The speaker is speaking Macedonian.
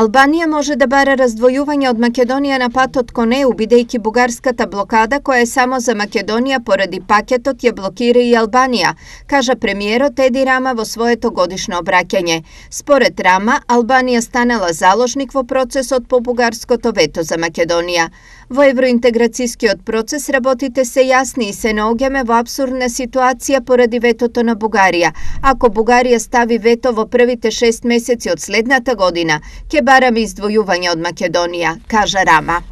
Албанија може да бара раздвојување од Македонија на патот кон ЕУ, бидејќи бугарската блокада која е само за Македонија поради пакетот ја блокира и Албанија, кажа премиерот Еди Рама во своето годишно обраќање. Според Рама, Албанија станала заложник во процесот по бугарското вето за Македонија. Во евроинтеграцијскиот процес работите се јасни и се наоѓаме во апсурдна ситуација поради ветото на Бугарија. Ако Бугарија стави вето во првите 6 месеци од следната година, ќе бараме издвојување од Македонија, кажа Рама.